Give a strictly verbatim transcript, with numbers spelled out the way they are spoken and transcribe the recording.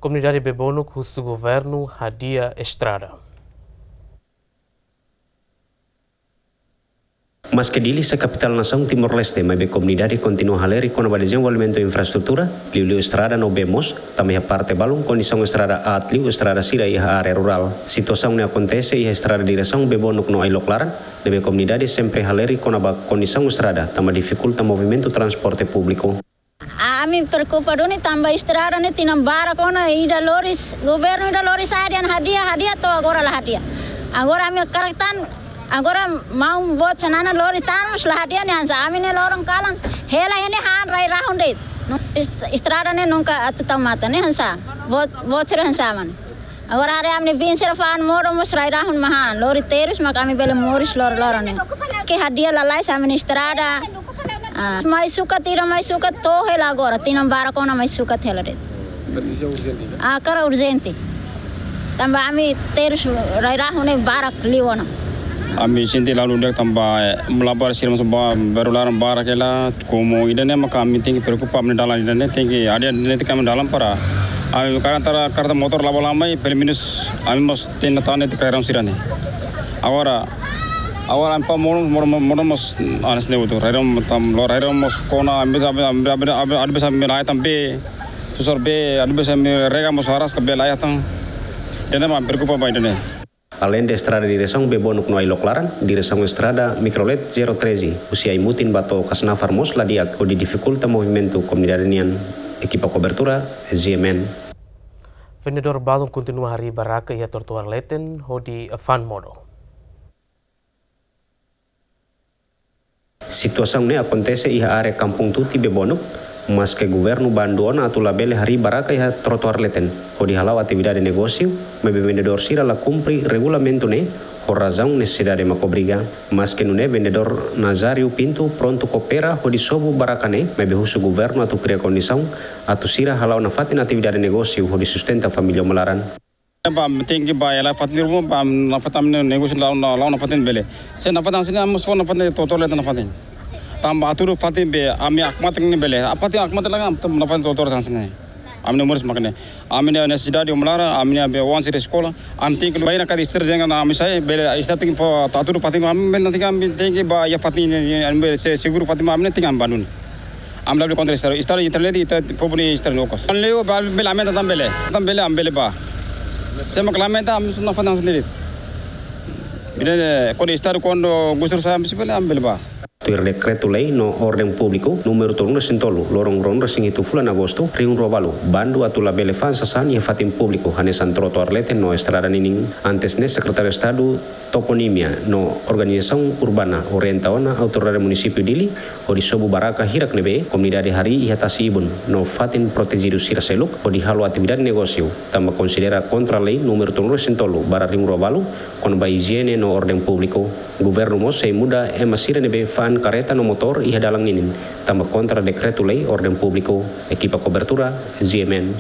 Komunidade Bebonuk husu governu hadi'a estrada. Maske Dili sai kapitál nasaun Timor-Leste, maibé komunidade kontinua halerik kona-ba dezenvolvimentu infraestrutura, liuliu estrada no bee moos, tanba iha parte balun kondisaun estrada aat liu estrada sira iha área rurál. Situasaun ne'e akontese iha estrada diresaun Bebonuk no Ailok Laran, ne'ebé komunidade sempre halerik kona-ba kondisaun estrada, tanba difikulta movimentu transporte públiku. Ami preokupa duni tanba estrada ne'e tinan barak ona ida lori, governu ida lori sa'e dehan hadi'a, hadi'a to'o agora la hadi'a. Agora ami hakarak tan, agora maun boot sira-nia lori tan mós la hadi'a ne'e hanesan ami ne'e loron kalan. Hela ne'e han rai-rahun de'it. Est-, estrada ne'e nunka atu tau matan ne'e hanesan. Boot, boot sira hanesan mane. Agora haree ami-nia biin sira fa'an modo mós rai-rahun mak han, lori terus mak ami bele moris loroloron ne'e. Ke hadi'a lalais ami-nia estrada. Ah, mai sukat ida mai sukat to'o hela agora, tinan barak ona mai sukat hela de'it. Presiza urjente, kan? Ah, hakarak urjente. Tanba ami terus rai-rahun ne'e barak liu ona. Ami sente la ludi'ak tanba, eh, mulabar sira mós ba, baru laran barak hela, komu ida-ne'e maka ami tenke preokupa ami-nia dalan ida-ne'e, tenke hadi'a ida-ne'e tenke ami dalan para ami karik tara kareta motór la'o ba lamai, pelumenus ami mós tenke tane te kraram sira-ne'e. Agora, agora ami pa modo, modo, modo mós hanesan ne'e hotu. Rai-rahun tam, lori rai-rahun mós kona, ami bisa, ami, ami, ami, ami bisa ami la iha tan bee, susar bee, ami bisa ami rega mós araska bee la iha tan. Ida-ne'e mak preokupa ba ida-ne'e. Aleinde estrada diresaun Bebonuk no Ailok Laran, diresaun estrada Mikrolet zero treze, husi Aimutin ba to'o Kasnafar mós la di'ak, hodi difikulta movimentu komunidade nian. Ekipa kobertura, Z M N. Vendedór balun kontinua harii barraka iha trotoar leten hodi fa'an modo. Situasaun ne'e akontese iha área Kampung Tuti Bebonuk, maske governu bandu ona atu labele harii barraka iha trotoar leten, hodi hala'o atividade negósiu, maibé vendedór sira la kumpre regulamentu ne'e, ho razaun nesesidade mak obriga. Maske nune'e vendedór Nazário Pinto prontu koopera hodi sobu barraka ne'e, maibé husu governu atu kria kondisaun atu sira hala'o nafatin atividade negósiu hodi sustenta família uma laran. Ba, tenke ba hela fatin ruma, ba, nafatin ami-nia negósiu la'o, la'o, la'o nafatin bele. Se nafatin hanesan ne'e, ami mós fó nafatin trotoar leten nafatin. Tanba atu fatin be, ami hakmatek ne'e bele. Fatin hakmatek laga, ami nafatin trotoar hanesan ne'e. Ami-nia moris mak ne'e. Ami-nia nesesidade uma laran, ami-nia be oan sira eskola. Ami tenke ba iha kada estrada dehan ami sa'e, bele estrada tenke fó atu fatin ami, ami tenke ba iha fatin ne'e, ami bele se seguru fatin ami ne'e tenke ami bandu ne'e. Ami labele kontra estrada, estrada internet ita povu nia estrada lokos. Ami leo ba bele lamenta tan bele. Tan bele ami bele ba. Se mak lamenta ami só nafatin sendiri. Bele kuandu estrada kuandu gusur sa'e ami bele ami bele ba. Tuir dekretu-lei no orden públiku númeru tolunulu-resin-tolu, loron ruanulu-resin-hitu fulan Agostu, rihun rua balu, bandu atu labele fa'an sasán iha fatin públiku, hanesan trotoar leten no estrada ninin. Antes ne'e Sekretáriu Estadu Toponímia no Organizasaun Urbana orienta ona Autoridade Munisípiu Dili, hodi sobu barraka hirak ne'ebé komunidade harii iha tasi-ibun no fatin protejidu sira seluk, hodi halo atividade negósiu, tanba konsidera kontra lei númeru tolunulu-resin-tolu barra rihun rua balu, kona-ba ijiene no orden públiku. Governu mós sei muda ema sira ne'ebé fa'an kareta no motór iha dalan ninin, tanba kontra dekretu-lei orden públiku. Ekipa kobertura, Z M N.